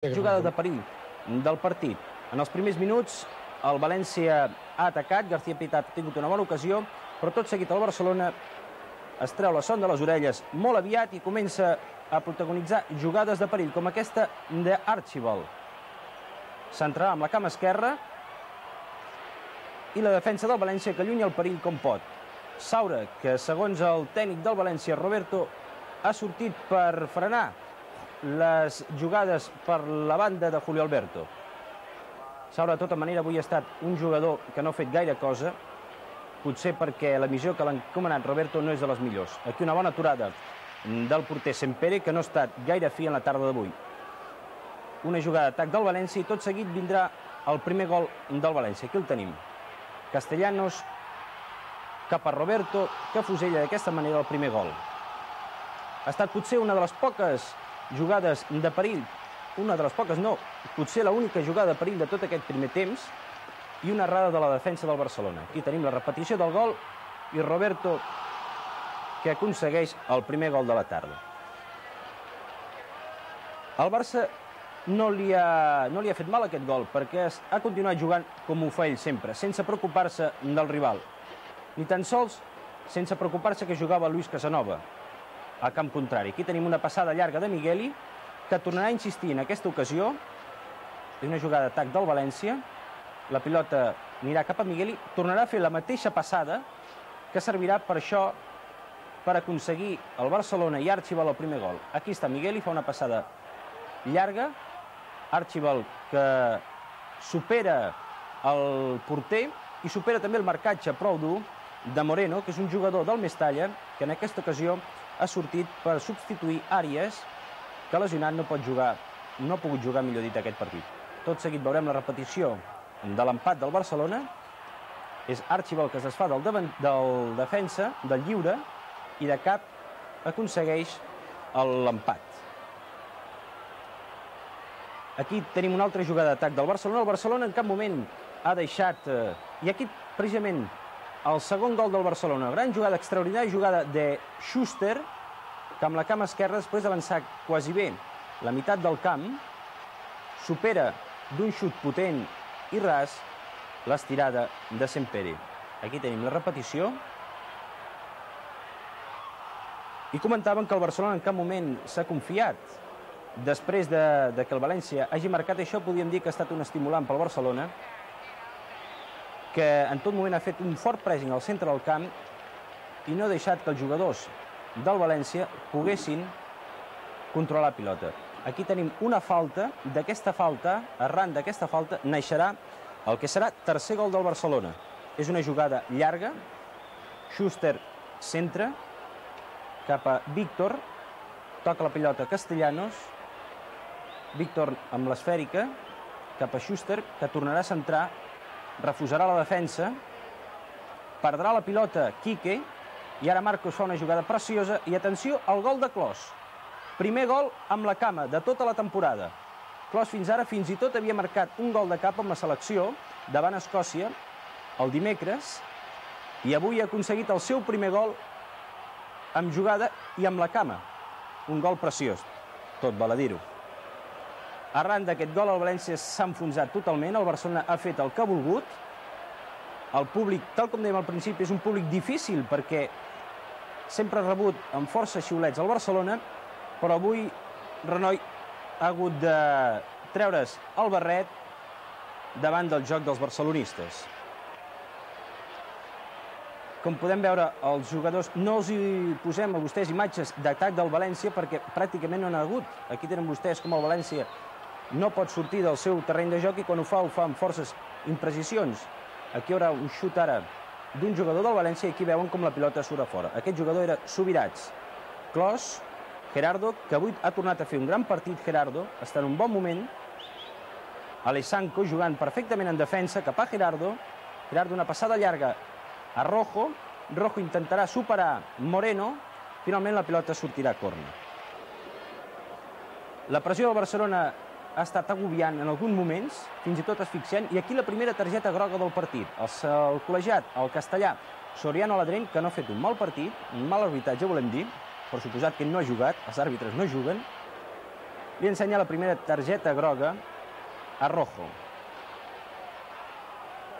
Jugada de perill del partit. En els primers minuts, el València ha atacat, García Pitat ha tingut una bona ocasió, però tot seguit el Barcelona es treu la son de les orelles molt aviat i comença a protagonitzar jugades de perill, com aquesta d'Archibald. S'entrarà amb la cama esquerra i la defensa del València que allunya el perill com pot. Saura, que segons el tècnic del València, Roberto, ha sortit per frenar les jugades per la banda de Julio Alberto. Saura, de tota manera, avui ha estat un jugador que no ha fet gaire cosa, potser perquè la missió que l'ha encomanat Roberto no és de les millors. Aquí una bona aturada del porter Sempere, que no ha estat gaire fi en la tarda d'avui. Una jugada d'atac del València i tot seguit vindrà el primer gol del València. Aquí el tenim. Castellanos cap a Roberto, que fusella d'aquesta manera el primer gol. Ha estat potser una de les poques jugades de perill, una de les poques no, potser l'única jugada de perill de tot aquest primer temps, i una errada de la defensa del Barcelona. Aquí tenim la repetició del gol i Roberto, que aconsegueix el primer gol de la tarda. El Barça no li ha fet mal aquest gol, perquè ha continuat jugant com ho fa ell sempre, sense preocupar-se del rival. Ni tan sols sense preocupar-se que jugava Luis Casanova al camp contrari. Aquí tenim una passada llarga de Migueli, que tornarà a insistir en aquesta ocasió. És una jugada d'atac del València. La pilota anirà cap a Migueli, tornarà a fer la mateixa passada, que servirà per això, per aconseguir el Barcelona i Archibald el primer gol. Aquí està Migueli, fa una passada llarga. Archibald, que supera el porter i supera també el marcatge prou dur de Moreno, que és un jugador del Mestalla, que en aquesta ocasió ha sortit per substituir Àries, que lesionat no ha pogut jugar, millor dit, aquest partit. Tot seguit veurem la repetició de l'empat del Barcelona. És Archibald que es desfà del defensa, del lliure, i de cap aconsegueix l'empat. Aquí tenim una altra jugada d'atac del Barcelona. El Barcelona en cap moment ha deixat... I aquí, precisament, el segon gol del Barcelona. Gran jugada, extraordinària jugada de Schuster, que amb la cama esquerra, després d'avançar quasi bé la meitat del camp, supera d'un xut potent i ras l'estirada de Sempere. Aquí tenim la repetició. I comentaven que el Barcelona en cap moment s'ha confiat. Després de que el València hagi marcat això, podríem dir que ha estat un estimulant pel Barcelona, que en tot moment ha fet un fort pressing al centre del camp i no ha deixat que els jugadors del València poguessin controlar la pilota. Aquí tenim una falta. D'aquesta falta, arran d'aquesta falta, naixerà el que serà tercer gol del Barcelona. És una jugada llarga. Schuster centra cap a Víctor. Toca la pilota Castellanos. Víctor amb l'esfèrica cap a Schuster, que tornarà a centrar. Refusarà la defensa. Perdrà la pilota Quique. I ara Marcos fa una jugada preciosa. I atenció al gol de Klos. Primer gol amb la cama de tota la temporada. Klos fins ara fins i tot havia marcat un gol de cap amb la selecció davant Escòcia el dimecres. I avui ha aconseguit el seu primer gol amb jugada i amb la cama. Un gol preciós. Tot val a dir-ho. Arran d'aquest gol, el València s'ha enfonsat totalment. El Barcelona ha fet el que ha volgut. El públic, tal com dèiem al principi, és un públic difícil perquè sempre ha rebut amb força xiulets al Barcelona, però avui Renoi ha hagut de treure's el barret davant del joc dels barcelonistes. Com podem veure, els jugadors, no els hi posem a vostès imatges d'atac del València perquè pràcticament no n'ha hagut. Aquí tenen vostès com el València no pot sortir del seu terreny de joc i quan ho fa amb forces imprecisions. Aquí hi haurà un xut ara d'un jugador del València i aquí veuen com la pilota surt a fora. Aquest jugador era Subirats. Klos, Gerardo, que avui ha tornat a fer un gran partit. Gerardo està en un bon moment. Alessanco jugant perfectament en defensa cap a Gerardo. Gerardo una passada llarga a Rojo. Rojo intentarà superar Moreno. Finalment la pilota sortirà a córner. La pressió del Barcelona ha estat agobiant en alguns moments, fins i tot asfixiant, i aquí la primera targeta groga del partit. El col·legiat, el castellà, Soriano Aladrén, que no ha fet un mal partit, un mal arbitratge, volem dir, per suposat que ell no ha jugat, els àrbitres no juguen, li ensenya la primera targeta groga a Rojo.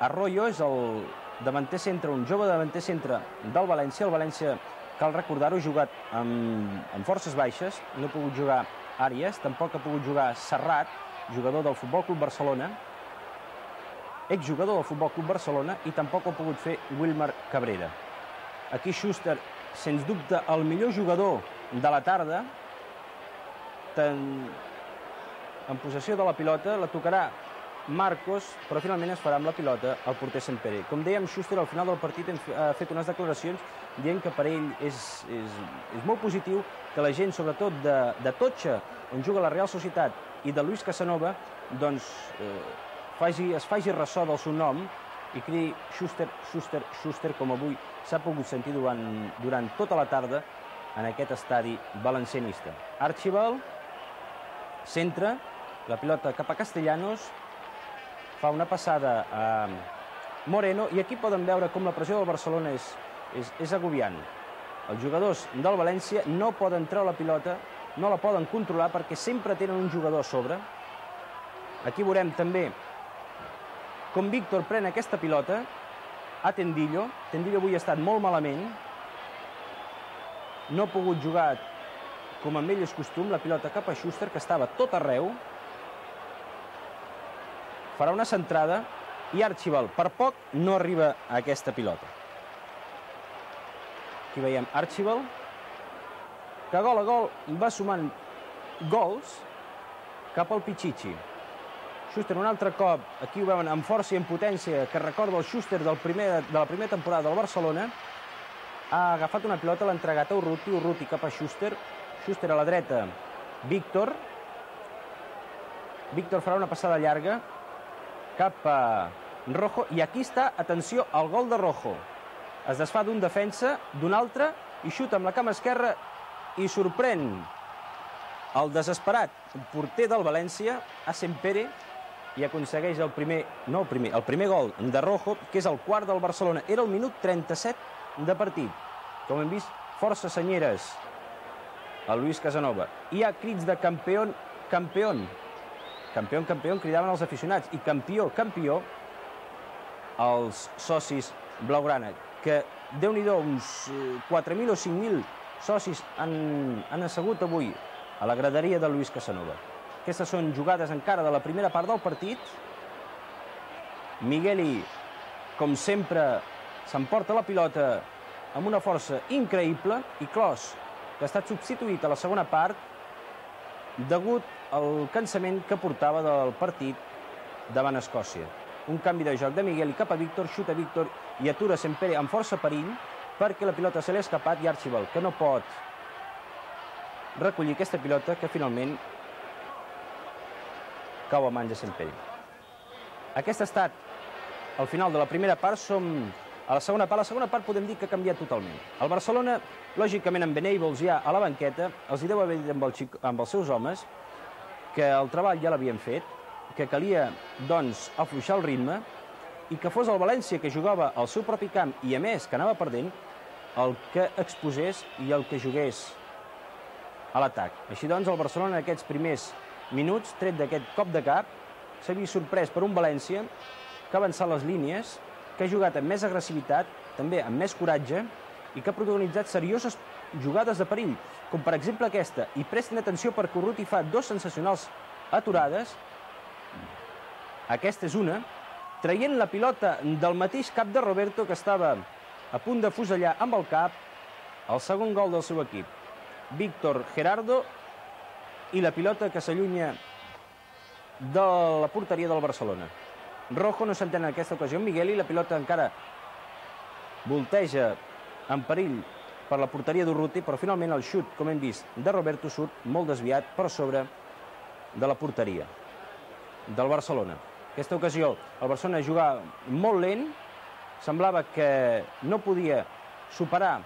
Arroyo és el davanter centre, un jove davanter centre del València. El València, cal recordar-ho, ha jugat amb forces baixes, no ha pogut jugar Àries, tampoc ha pogut jugar Serrat, jugador del Futbol Club Barcelona, exjugador del Futbol Club Barcelona, i tampoc ho ha pogut fer Wilmar Cabrera. Aquí Schuster, sens dubte, el millor jugador de la tarda, en possessió de la pilota, la tocarà Marcos, però finalment es farà amb la pilota el porter Sempere. Com dèiem, Schuster al final del partit ha fet unes declaracions dient que per ell és molt positiu que la gent, sobretot de Totxa, on juga la Real Societat, i de Luis Casanova, doncs es faci ressò del seu nom i cridi Schuster, Schuster, Schuster, com avui s'ha pogut sentir durant tota la tarda en aquest estadi valencianista. Archibald centra la pilota cap a Castellanos, fa una passada a Moreno, i aquí poden veure com la pressió del Barcelona és agobiant. Els jugadors del València no poden treure la pilota, no la poden controlar perquè sempre tenen un jugador a sobre. Aquí veurem també com Víctor pren aquesta pilota a Tendillo. Tendillo avui ha estat molt malament, no ha pogut jugar com amb ell és costum, la pilota cap a Schuster, que estava tot arreu. Farà una centrada i Archibald per poc no arriba a aquesta pilota. Aquí veiem Archibald, que gol a gol va sumant gols cap al Pichichi. Schuster un altre cop, aquí ho veuen amb força i amb potència, que recorda el Schuster de la primera temporada del Barcelona. Ha agafat una pilota, l'ha entregat a Urruti, Urruti cap a Schuster, Schuster a la dreta, Víctor. Víctor farà una passada llarga cap a Rojo, i aquí està, atenció, el gol de Rojo. Es desfà d'un defensa, d'un altre, i xuta amb la cama esquerra i sorprèn el desesperat porter del València, a Sempere, i aconsegueix el primer gol de Rojo, que és el quart del Barcelona. Era el minut 37 de partit. Com hem vist, força senyeres a Luis Casanova. Hi ha crits de campeón, campeón. Campeón, campeón, cridaven els aficionats. I campió, campió, els socis blaugrana, que déu-n'hi-do, uns 4.000 o 5.000 socis han assegut avui a la graderia de Luis Casanova. Aquestes són jugades encara de la primera part del partit. Migueli, com sempre, s'emporta la pilota amb una força increïble, i Klos, que ha estat substituït a la segona part degut al cansament que portava del partit davant Escòcia. Un canvi de joc de Migueli cap a Víctor, xuta Víctor i atura Sempere amb força perill perquè la pilota se li ha escapat, i Archibald, que no pot recollir aquesta pilota, que finalment cau a mans de Sempere. Aquest ha estat el final de la primera part. Som a la segona part. La segona part podem dir que ha canviat totalment. El Barcelona, lògicament, amb Venables ja a la banqueta, els hi deu haver dit amb els seus homes que el treball ja l'havien fet, que calia, doncs, afluixar el ritme, i que fos el València, que jugava al seu propi camp i, a més, que anava perdent, el que exposés i el que jugués a l'atac. Així doncs, el Barcelona en aquests primers minuts, tret d'aquest cop de cap, s'ha vist sorprès per un València que ha avançat les línies, que ha jugat amb més agressivitat, també amb més coratge, i que ha protagonitzat serioses jugades de perill, com per exemple aquesta. I prestin atenció perquè Urruti fa dos sensacionals aturades. Aquesta és una, traient la pilota del mateix cap de Roberto, que estava a punt de fusellar amb el cap el segon gol del seu equip. Víctor Gerardo, i la pilota que s'allunya de la porteria del Barcelona. Rojo no s'entén en aquesta ocasió amb Migueli, la pilota encara volteja en perill per la porteria d'Urruti, però finalment el xut, com hem vist, de Roberto surt molt desviat per sobre de la porteria del Barcelona. Aquesta ocasió el Barcelona jugava molt lent, semblava que no podia superar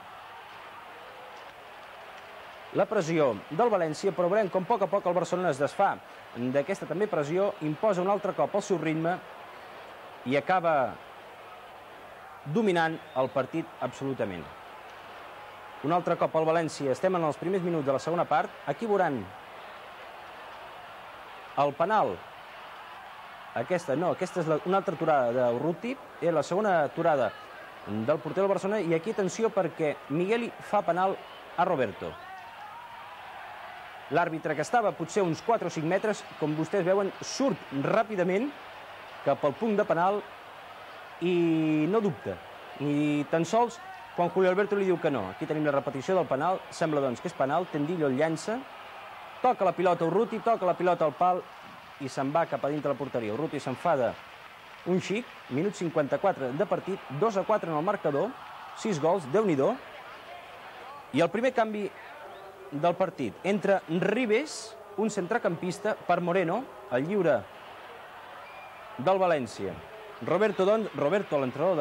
la pressió del València, però veurem com a poc el Barcelona es desfà d'aquesta també pressió, imposa un altre cop el seu ritme i acaba dominant el partit absolutament. Un altre cop al València, estem en els primers minuts de la segona part. Aquí veuran El penal, aquesta és una altra aturada d'Urruti, és la segona aturada del porter del Barcelona, i aquí atenció perquè Migueli fa penal a Roberto. L'àrbitre, que estava potser uns 4 o 5 metres, com vostès veuen, surt ràpidament cap al punt de penal i no dubta. I tan sols quan Julio Alberto li diu que no. Aquí tenim la repetició del penal, sembla doncs que és penal, Tendillo el llança, toca la pilota Urruti, toca la pilota al pal i se'n va cap a dintre la porteria. Urruti s'enfada un xic, minut 54 de partit, 2-4 en el marcador, 6 gols, Déu-n'hi-do. I el primer canvi del partit, entra Ribes, un centrecampista, per Moreno, el lliure del València. Roberto, l'entrenador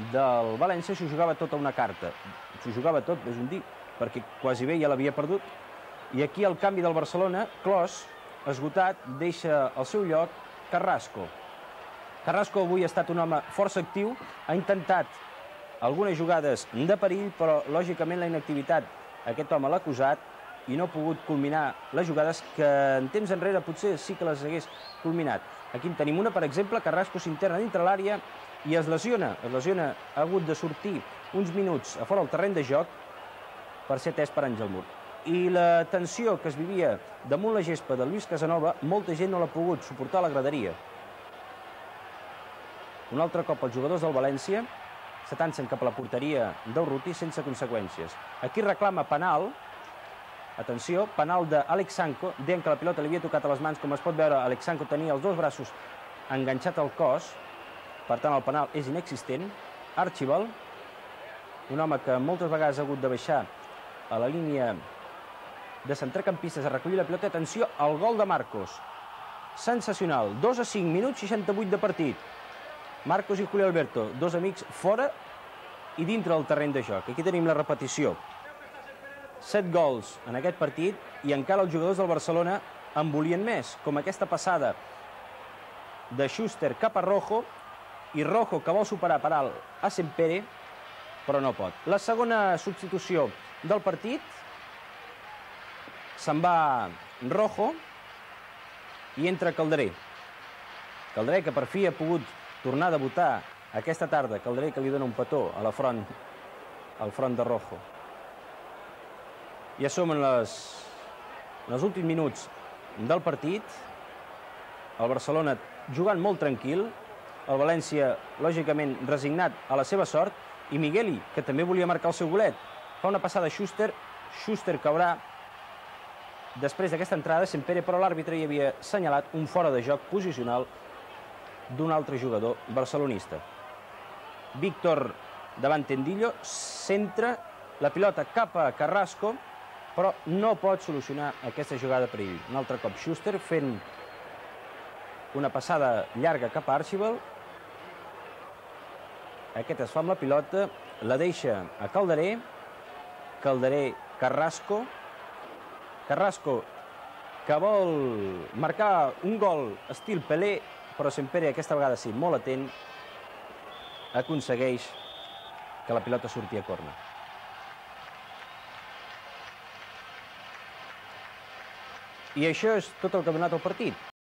del València, s'ho jugava tot a una carta. S'ho jugava tot, és un dir, perquè quasi bé ja l'havia perdut. I aquí el canvi del Barcelona, Clos, esgotat, deixa al seu lloc Carrasco. Carrasco avui ha estat un home força actiu, ha intentat algunes jugades de perill, però lògicament la inactivitat aquest home l'ha acusat i no ha pogut culminar les jugades que en temps enrere potser sí que les hagués culminat. Aquí en tenim una, per exemple, Carrasco s'interna dintre l'àrea i es lesiona, ha hagut de sortir uns minuts a fora del terreny de joc per ser atès per Àngel Mur. I la tensió que es vivia damunt la gespa de Luis Casanova, molta gent no l'ha pogut suportar a la graderia. Un altre cop els jugadors del València s'atancen cap a la porteria d'Urruti sense conseqüències. Aquí reclama penal, atenció, penal d'Àlex Sanco, deien que la pilota li havia tocat a les mans, com es pot veure, Àlex Sanco tenia els dos braços enganxats al cos, per tant el penal és inexistent. Archibald, un home que moltes vegades ha hagut de baixar a la línia de centrecampistes a recollir la pilota. Atenció al gol de Marcos, sensacional, 2-5, minuts 68 de partit. Marcos i Julio Alberto, dos amics fora i dintre del terreny de joc. Aquí tenim la repetició. 7 gols en aquest partit i encara els jugadors del Barcelona en volien més, com aquesta passada de Schuster cap a Rojo, i Rojo que vol superar per alt a Sempere, però no pot. La segona substitució del partit, se'n va Rojo i entra Calderé. Calderé, que per fi ha pogut tornar a debutar aquesta tarda. Calderé, que li dona un petó a la front, al front de Rojo. Ja som en els últims minuts del partit. El Barcelona jugant molt tranquil, el València, lògicament, resignat a la seva sort, i Migueli, que també volia marcar el seu golet. Fa una passada a Schuster, Schuster caurà després d'aquesta entrada, Sempere, però l'àrbitre hi havia assenyalat un fora de joc posicional d'un altre jugador barcelonista. Víctor davant Tendillo, centra la pilota cap a Carrasco, però no pot solucionar aquesta jugada per ell. Un altre cop Schuster fent una passada llarga cap a Archibald. Aquest es fa amb la pilota, la deixa a Calderé, Calderé, Carrasco, Carrasco que vol marcar un gol estil Pelé, però Sempere aquesta vegada sí, molt atent, aconsegueix que la pilota surti a córner. I això és tot el que ha donat el partit.